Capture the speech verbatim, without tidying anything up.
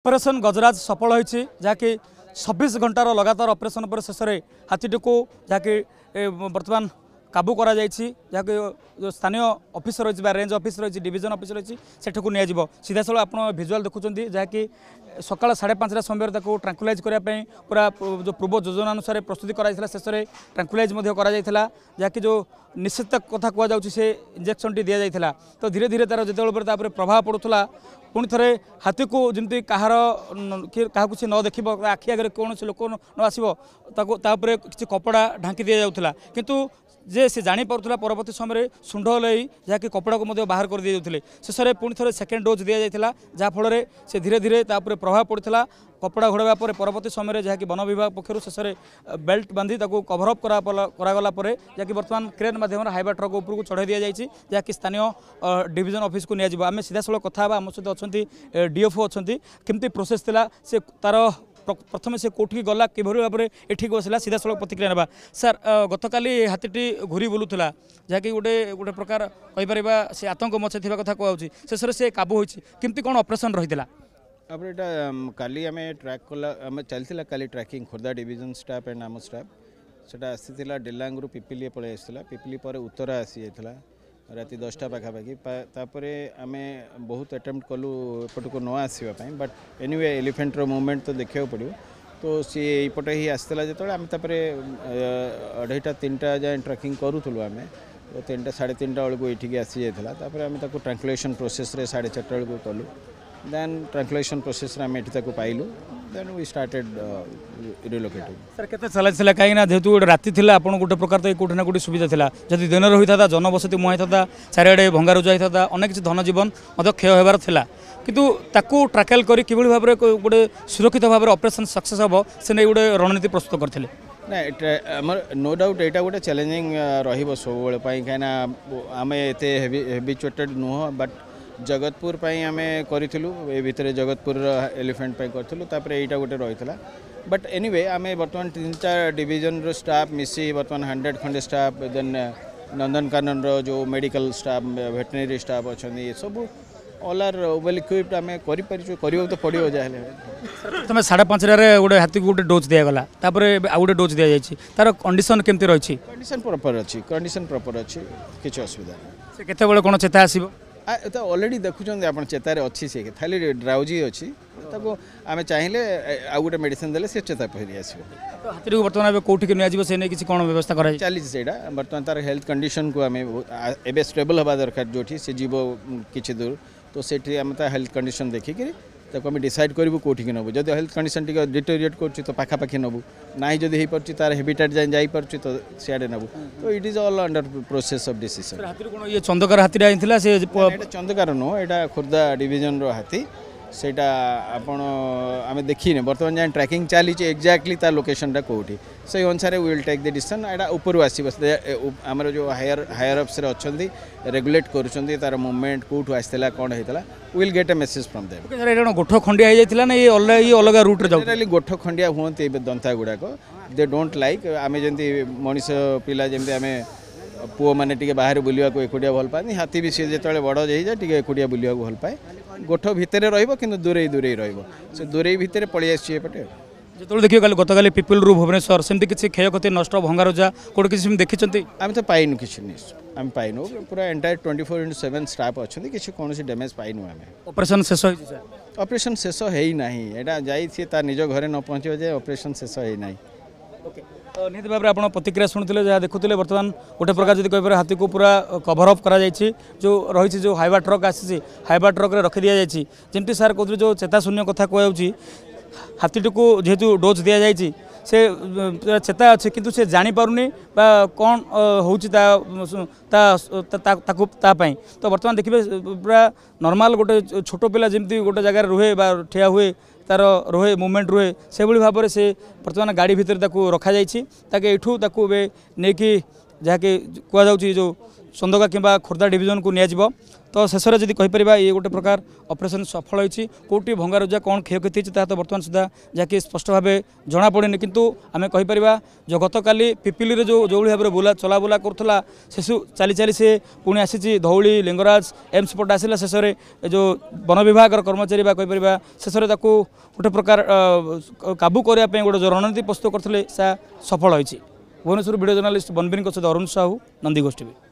Operation ଗଜରାଜ ସଫଳ ହୋଇଛି, ଯାହାକି ଛବିଶ ଘଣ୍ଟାର ଲଗାତାର ଅପରେସନ୍ ପରେ ଶେଷରେ ହାତୀଟିକୁ ଯାହାକି ବର୍ତ୍ତମାନ କାବୁ କରାଯାଇଛି, ଯାହାକି ସ୍ଥାନୀୟ ଅଫିସ ରହିଛି ବା ରେଞ୍ଜ ଅଫିସ ରହିଛି, ଡିଭିଜନ ଅଫିସ ରହିଛି, ସେଠାକୁ ନିଆଯିବ। ସିଧାସଳଖ ଆପଣ ଭିଜୁଆଲ ଦେଖୁଛନ୍ତି, ଯାହାକି ସକାଳ ସାଢ଼େ ପାଞ୍ଚଟା ସମୟରେ ତାକୁ ଟ୍ରାଙ୍କୁଲାଇଜ୍ କରିବା ପାଇଁ ପୁରା ଯେଉଁ ପୂର୍ବ ଯୋଜନା ଅନୁସାରେ ପ୍ରସ୍ତୁତି କରାଯାଇଥିଲା। ଶେଷରେ ଟ୍ରାଙ୍କୁଲାଇଜ୍ ମଧ୍ୟ କରାଯାଇଥିଲା, ଯାହାକି ଯେଉଁ ନିଶ୍ଚିତ କଥା କୁହାଯାଉଛି ସେ ଇଞ୍ଜେକ୍ସନଟି ଦିଆଯାଇଥିଲା। ତ ଧୀରେ ଧୀରେ ତା'ର ଯେତେବେଳେ ତା ଉପରେ ପ୍ରଭାବ ପଡ଼ୁଥିଲା, ପୁଣି ଥରେ ହାତୀକୁ ଯେମିତି କାହାର କାହାକୁ ସେ ନ ଦେଖିବ, ଆଖି ଆଗରେ କୌଣସି ଲୋକ ନ ଆସିବ, ତାକୁ ତା ଉପରେ କିଛି କପଡ଼ା ଢାଙ୍କି ଦିଆଯାଉଥିଲା। କିନ୍ତୁ ଯେ ସେ ଜାଣିପାରୁଥିଲା, ପରବର୍ତ୍ତୀ ସମୟରେ ଶୁଣ୍ଢ ହଲେଇ ଯାହାକି କପଡ଼ାକୁ ମଧ୍ୟ ବାହାର କରିଦିଆଯାଉଥିଲେ। ଶେଷରେ ପୁଣି ଥରେ ସେକେଣ୍ଡ ଡୋଜ୍ ଦିଆଯାଇଥିଲା, ଯାହାଫଳରେ ସେ ଧୀରେ ଧୀରେ ତା ଉପରେ ପ୍ରଭାବ ପଡ଼ିଥିଲା। କପଡ଼ା ଘୋଡ଼ାଇବା ପରେ ପରବର୍ତ୍ତୀ ସମୟରେ ଯାହାକି ବନ ବିଭାଗ ପକ୍ଷରୁ ଶେଷରେ ବେଲ୍ଟ ବାନ୍ଧି ତାକୁ କଭରଅପ୍ କରାଗଲା ପରେ ଯାହାକି ବର୍ତ୍ତମାନ କ୍ରେନ୍ ମାଧ୍ୟମରେ ହାଇବା ଟ୍ରକ୍ ଉପରକୁ ଚଢ଼ାଇ ଦିଆଯାଇଛି, ଯାହାକି ସ୍ଥାନୀୟ ଡିଭିଜନ ଅଫିସକୁ ନିଆଯିବ। ଆମେ ସିଧାସଳଖ କଥା ହେବା, ଆମ ସହିତ ଅଛନ୍ତି ଡିଏଫ୍ଓ ଅଛନ୍ତି। କେମିତି ପ୍ରୋସେସ୍ ଥିଲା, ସେ ତାର ପ୍ରଥମେ ସେ କେଉଁଠିକି ଗଲା, କିଭଳି ଭାବରେ ଏଠିକି ବସିଲା, ସିଧାସଳଖ ପ୍ରତିକ୍ରିୟା ନେବା। ସାର୍, ଗତକାଲି ହାତୀଟି ଘୁରି ବୁଲୁଥିଲା, ଯାହାକି ଗୋଟେ ଗୋଟେ ପ୍ରକାର କହିପାରିବା ସେ ଆତଙ୍କ ମଚା ଥିବା କଥା କୁହାଯାଉଛି। ଶେଷରେ ସେ କାବୁ ହୋଇଛି, କେମିତି କ'ଣ ଅପରେସନ୍ ରହିଥିଲା? ତାପରେ ଏଇଟା କାଲି ଆମେ ଟ୍ରାକ୍ କଲା, ଆମେ ଚାଲିଥିଲା କାଲି tracking, Khordha division staff and ଆମ ଷ୍ଟାଫ୍। ସେଟା ଆସିଥିଲା ଡେଲାଙ୍ଗରୁ ପିପିଲି ପଳେଇ ଆସିଥିଲା, ପିପିଲି ପରେ ଉତ୍ତରା ଆସିଯାଇଥିଲା ରାତି ଦଶଟା ପାଖାପାଖି। ତାପରେ ଆମେ ବହୁତ ଆଟେମ୍ପ୍ଟ କଲୁ ଏପଟକୁ ନ ଆସିବା ପାଇଁ, ବଟ୍ ଏନିୱେ ଏଲିଫେଣ୍ଟର ମୁଭମେଣ୍ଟ ତ ଦେଖିବାକୁ ପଡ଼ିବ। ତ ସିଏ ଏଇପଟେ ହିଁ ଆସିଥିଲା ଯେତେବେଳେ ଆମେ ତାପରେ ଅଢ଼େଇଟା ତିନିଟା ଯାଏଁ ଟ୍ରାକିଂ କରୁଥିଲୁ ଆମେ, ତ ତିନିଟା ସାଢ଼େ ତିନିଟା ବେଳକୁ ଏଇଠିକି ଆସିଯାଇଥିଲା। ତାପରେ ଆମେ ତାକୁ ଟ୍ରାଙ୍କୁଲେସନ୍ ପ୍ରୋସେସ୍ରେ ସାଢ଼େ ଚାରିଟା ବେଳକୁ କଲୁ, ଦେନ୍ ଟ୍ରାଙ୍କୁଲେସନ୍ ପ୍ରୋସେସ୍ରେ ଆମେ ଏଠି ତାକୁ ପାଇଲୁ, ଦେନ୍ we started ରିଲୋକେଟିଂ। Sir, କେତେ ଚ୍ୟାଲେଞ୍ଜ ଥିଲା? କାହିଁକିନା ଯେହେତୁ ଗୋଟେ ରାତି ଥିଲା, ଆପଣ ଗୋଟେ ପ୍ରକାର ତ କେଉଁଠି ନା କେଉଁଠି ସୁବିଧା ଥିଲା। ଯଦି ଦିନରେ ହୋଇଥାନ୍ତା, ଜନବସତି ମୁହାଁ ହେଇଥାନ୍ତା, ଚାରିଆଡ଼େ ଭଙ୍ଗାରୁଜା ହେଇଥାନ୍ତା, ଅନେକ କିଛି ଧନ ଜୀବନ ମଧ୍ୟ କ୍ଷୟ ହେବାର ଥିଲା। କିନ୍ତୁ ତାକୁ ଟ୍ରାକେଲ୍ କରି କିଭଳି ଭାବରେ ଗୋଟେ ସୁରକ୍ଷିତ ଭାବରେ ଅପରେସନ୍ ସକ୍ସେସ୍ ହେବ, ସେ ନେଇ ଗୋଟେ ରଣନୀତି ପ୍ରସ୍ତୁତ କରିଥିଲେ। ନା, ଆମର ନୋ ଡାଉଟ୍ ଏଇଟା ଗୋଟେ ଚ୍ୟାଲେଞ୍ଜିଂ ରହିବ ସବୁବେଳେ ପାଇଁ, କାହିଁକିନା ଆମେ ଏତେ ହେଭି ହେବିଚୁଏଟେଡ଼ ନୁହଁ। ବଟ୍ ଜଗତପୁର ପାଇଁ ଆମେ କରିଥିଲୁ, ଏ ଭିତରେ ଜଗତପୁରର ଏଲିଫେଣ୍ଟ ପାଇଁ କରିଥିଲୁ, ତାପରେ ଏଇଟା ଗୋଟେ ରହିଥିଲା। ବଟ୍ ଏନିୱେ ଆମେ ବର୍ତ୍ତମାନ ତିନିଟା ଡିଭିଜନର ଷ୍ଟାଫ୍ ମିଶି ବର୍ତ୍ତମାନ ହଣ୍ଡ୍ରେଡ଼ ଖଣ୍ଡେ ଷ୍ଟାଫ୍, ଦେନ୍ ନନ୍ଦନକାନନର ଯେଉଁ ମେଡ଼ିକାଲ ଷ୍ଟାଫ୍, ଭେଟେନାରୀ ଷ୍ଟାଫ୍ ଅଛନ୍ତି, ଏସବୁ ଅଲ୍ ଆର୍ ୱେଲ୍ ଇକ୍ୱିପ୍ଡ। ଆମେ କରିପାରିଛୁ, କରିବାକୁ ତ ପଡ଼ିବ ଯାହାହେଲେ। ପ୍ରଥମେ ସାଢ଼େ ପାଞ୍ଚଟାରେ ଗୋଟେ ହାତୀକୁ ଗୋଟେ ଡୋଜ୍ ଦିଆଗଲା, ତାପରେ ଆଉ ଗୋଟେ ଡୋଜ୍ ଦିଆଯାଇଛି। ତାର କଣ୍ଡିସନ୍ କେମିତି ରହିଛି? କଣ୍ଡିସନ୍ ପ୍ରପର୍ ଅଛି, କଣ୍ଡିସନ୍ ପ୍ରପର୍ ଅଛି, କିଛି ଅସୁବିଧା ନାହିଁ। ସେ କେତେବେଳେ କ'ଣ ଚେତା ଆସିବ? ତ ଅଲରେଡ଼ି ଦେଖୁଛନ୍ତି ଆପଣ, ଚେତାରେ ଅଛି ସେ, ଖାଲି ଡ୍ରାଉଜି ଅଛି। ତାକୁ ଆମେ ଚାହିଁଲେ ଆଉ ଗୋଟେ ମେଡ଼ିସିନ ଦେଲେ ସେ ଚେତା ଫେରି ଆସିବ। ତ ହାତୀଟିକୁ ବର୍ତ୍ତମାନ ଏବେ କେଉଁଠିକି ନିଆଯିବ, ସେ ନେଇ କିଛି କ'ଣ ବ୍ୟବସ୍ଥା କରାଯାଇଛି? ଚାଲିଛି ସେଇଟା। ବର୍ତ୍ତମାନ ତାର ହେଲ୍ଥ କଣ୍ଡିସନକୁ ଆମେ ଏବେ ଷ୍ଟେବଲ୍ ହେବା ଦରକାର, ଯେଉଁଠି ସେ ଯିବ କିଛି ଦୂର, ତ ସେଠି ଆମେ ତା ହେଲ୍ଥ କଣ୍ଡିସନ ଦେଖିକିରି ତାକୁ ଆମେ ଡିସାଇଡ଼୍ କରିବୁ କେଉଁଠିକି ନେବୁ। ଯଦି ହେଲ୍ଥ କଣ୍ଡିସନ ଟିକେ ଡିଟୋରିଏଟ୍ କରୁଛି ତ ପାଖାପାଖି ନେବୁ, ନାହିଁ ଯଦି ହେଇପାରୁଛି ତାର ହେବିଟାଟ୍ ଯାଇ ଯାଇପାରୁଛି ତ ସିଆଡ଼େ ନେବୁ। ତ it is all under process of decision. ହାତୀରୁ କ'ଣ ଇଏ ଚନ୍ଦକାର ହାତୀଟା ଆଣିଥିଲା ସେ? ଏଇଟା ଚନ୍ଦକାର ନୁହଁ, ଏଇଟା ଖୋର୍ଦ୍ଧା ଡିଭିଜନର ହାତୀ। ସେଇଟା ଆପଣ ଆମେ ଦେଖିନେ, ବର୍ତ୍ତମାନ ଯାଏଁ ଟ୍ରାକିଂ ଚାଲିଛି, ଏକ୍ଜାକ୍ଟଲି ତା ଲୋକେସନଟା କେଉଁଠି ସେଇ ଅନୁସାରେ will take the decision. ଏଇଟା ଉପରୁ ଆସିବ, ଆମର ଯେଉଁ ହାୟର ହାୟର ଅପ୍ସରେ ଅଛନ୍ତି, ରେଗୁଲେଟ୍ କରୁଛନ୍ତି ତାର ମୁଭମେଣ୍ଟ କେଉଁଠୁ ଆସିଥିଲା, କ'ଣ ହେଇଥିଲା, will get a message from them. Sir, ଏଇଟା କ'ଣ ଗୋଠ ଖଣ୍ଡିଆ ହେଇଯାଇଥିଲା ନା ଇଏ ଅଲଗା ଇଏ ଅଲଗା ରୁଟ୍ରେ ଯାଉ? ଜେନେରାଲି ଗୋଠ ଖଣ୍ଡିଆ ହୁଅନ୍ତି ଏବେ ଦନ୍ତା ଗୁଡ଼ାକ, ଦେ don't like. ଆମେ ଯେମିତି ମଣିଷ ପିଲା, ଯେମିତି ଆମେ ପୁଅମାନେ ଟିକେ ବାହାରେ ବୁଲିବାକୁ ଏକୁଟିଆ ଭଲ ପାଆନ୍ତି, ହାତୀ ବି ସିଏ ଯେତେବେଳେ ବଡ଼ ହେଇଯାଏ ଟିକେ ଏକୁଟିଆ ବୁଲିବାକୁ ଭଲ ପାଏ। ଗୋଠ ଭିତରେ ରହିବ କିନ୍ତୁ ଦୂରେଇ ଦୂରେଇ ରହିବ, ସେ ଦୂରେଇ ଭିତରେ ପଳେଇ ଆସିଛି ଏପଟେ। ଯେତେବେଳେ ଦେଖିବେ କାଲି ଗତକାଲି ପିପିଲରୁ ଭୁବନେଶ୍ୱର, ସେମିତି କିଛି କ୍ଷୟକ୍ଷତି, ନଷ୍ଟ, ଭଙ୍ଗାରୁଜା କେଉଁଠି କିଛି ସେମିତି ଦେଖିଛନ୍ତି? ଆମେ ତ ପାଇନୁ କିଛି ନ୍ୟୁଜ୍, ଆମେ ପାଇନୁ। ପୁରା entire twenty four into seven staff ଅଛନ୍ତି, କିଛି କୌଣସି ଡ୍ୟାମେଜ୍ ପାଇନୁ ଆମେ। ଅପରେସନ୍ ଶେଷ ହେଇଛି ସାର୍? ଅପରେସନ୍ ଶେଷ ହେଇନାହିଁ, ଏଇଟା ଯାଇ ସିଏ ତା ନିଜ ଘରେ ନ ପହଞ୍ଚିବ ଯେ ଅପରେସନ୍ ଶେଷ ହେଇନାହିଁ। ଓକେ, ନିହାତି ଭାବରେ ଆପଣ ପ୍ରତିକ୍ରିୟା ଶୁଣୁଥିଲେ, ଯାହା ଦେଖୁଥିଲେ। ବର୍ତ୍ତମାନ ଗୋଟେ ପ୍ରକାର ଯଦି କହିପାରିବେ ହାତୀକୁ ପୁରା କଭର ଅପ୍ କରାଯାଇଛି, ଯେଉଁ ରହିଛି ଯେଉଁ ହାଇବା ଟ୍ରକ୍ ଆସିଛି, ହାଇବା ଟ୍ରକ୍ରେ ରଖିଦିଆଯାଇଛି। ଯେମିତି ସାର୍ କହୁଥିଲେ, ଯେଉଁ ଚେତାଶୂନ୍ୟ କଥା କୁହାଯାଉଛି, ହାତୀଟିକୁ ଯେହେତୁ ଡୋଜ୍ ଦିଆଯାଇଛି ସେ ଚେତା ଅଛି, କିନ୍ତୁ ସେ ଜାଣିପାରୁନି ବା କ'ଣ ହେଉଛି ତା ତାକୁ ତା ପାଇଁ। ତ ବର୍ତ୍ତମାନ ଦେଖିବେ ପୁରା ନର୍ମାଲ ଗୋଟେ ଛୋଟ ପିଲା ଯେମିତି ଗୋଟେ ଜାଗାରେ ରୁହେ ବା ଠିଆ ହୁଏ, ତାର ରୁହେ ମୁଭମେଣ୍ଟ ରୁହେ, ସେଭଳି ଭାବରେ ସେ ବର୍ତ୍ତମାନ ଗାଡ଼ି ଭିତରେ ତାକୁ ରଖାଯାଇଛି। ତାକୁ ଏଇଠୁ ତାକୁ ଏବେ ନେଇକି ଯାହାକି କୁହାଯାଉଛି ଯେଉଁ ଚନ୍ଦକା କିମ୍ବା ଖୋର୍ଦ୍ଧା ଡିଭିଜନକୁ ନିଆଯିବ। ତ ଶେଷରେ ଯଦି କହିପାରିବା, ଇଏ ଗୋଟେ ପ୍ରକାର ଅପରେସନ୍ ସଫଳ ହୋଇଛି। କେଉଁଠି ଭଙ୍ଗାରୁଜା, କ'ଣ କ୍ଷୟକ୍ଷତି ହେଇଛି, ତାହା ତ ବର୍ତ୍ତମାନ ସୁଦ୍ଧା ଯାହାକି ସ୍ପଷ୍ଟ ଭାବେ ଜଣାପଡ଼ିନି। କିନ୍ତୁ ଆମେ କହିପାରିବା ଯେ ଗତକାଲି ପିପିଲିରେ ଯେଉଁ ଯେଉଁଭଳି ଭାବରେ ବୁଲା ଚଲାବୁଲା କରୁଥିଲା, ସେସୁ ଚାଲି ଚାଲି ସେ ପୁଣି ଆସିଛି ଧଉଳି, ଲିଙ୍ଗରାଜ, ଏମ୍ସ ପଟେ ଆସିଲା। ଶେଷରେ ଏ ଯେଉଁ ବନ ବିଭାଗର କର୍ମଚାରୀ ବା କହିପାରିବା, ଶେଷରେ ତାକୁ ଗୋଟେ ପ୍ରକାର କାବୁ କରିବା ପାଇଁ ଗୋଟେ ଯେଉଁ ରଣନୀତି ପ୍ରସ୍ତୁତ କରିଥିଲେ, ସେ ସଫଳ ହୋଇଛି। ଭୁବନେଶ୍ୱର ଭିଡ଼ିଓ ଜର୍ଣ୍ଣାଲିଷ୍ଟ ବନବୀରଙ୍କ ସହିତ ଅରୁଣ ସାହୁ, ନନ୍ଦିଘୋଷ ଟିଭି।